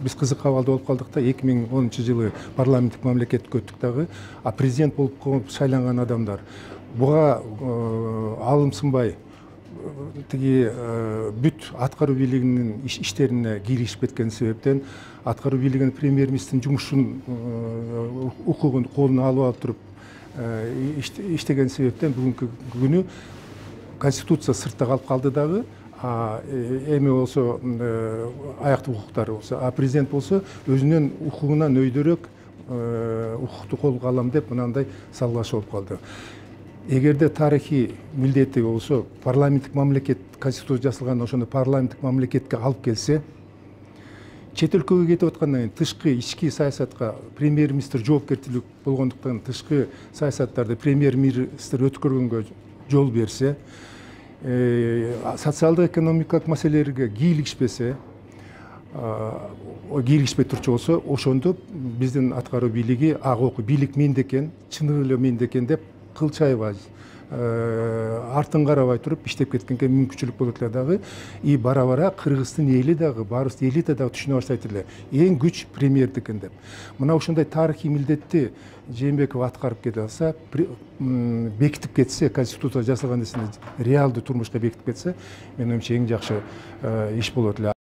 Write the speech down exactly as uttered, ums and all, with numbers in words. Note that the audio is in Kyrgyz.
биз кызык абалда болуп калдык да, эки миң онунчу жылы парламенттик мамлекетке өттүк дагы, а президент болуп шайланган адамдар буга алымсынбай тиги бүт аткаруу бийлигинин иштерине киришип кеткен себептен аткаруу бийлигинин премьер-министрдин жумушун укугун колуна алып алып туруп иштеген себептен бүгүнкү күнү конституция сыртта калып калды дагы, эми болсо аяктык укуктары болсо, а президент болсо өзүнүн укугунан өйдөрөөк укукту колго алам деп мынандай салгылаш болуп калды. Эгерде тарыхый милдети болсо парламенттик мамлекет, конституция жасалганда ошондо парламенттик мамлекетке алып келсе, чет өлкөгө кетип аткандан кийин тышкы ички саясатка премьер-министр жоопкерчилик болгондуктан тышкы саясаттарды премьер-министр өткөргөнгө жол берсе, социалдык экономикалык маселелерге кийлигишпесе, кийлигишпей турчу болсо, ошондо биздин аткаруу бийлиги ак бийлик менде экен, чыныгы эле менде экен деп кылчайбай, артын карабай туруп иштеп кеткенге мүмкүнчүлүк болот эле дагы. И бара-бара Кыргыздын эли дагы, барыбыз элите дагы түшүнө баштайт эле, эң күч премьердики экен деп. Мына ушундай тарыхый милдетти Жээнбеков аткарып кете алса, бекитип кетсе, конституция жасалган нерсени реалдуу турмушка бекитип кетсе, менин оюмча эң жакшы иш болот эле.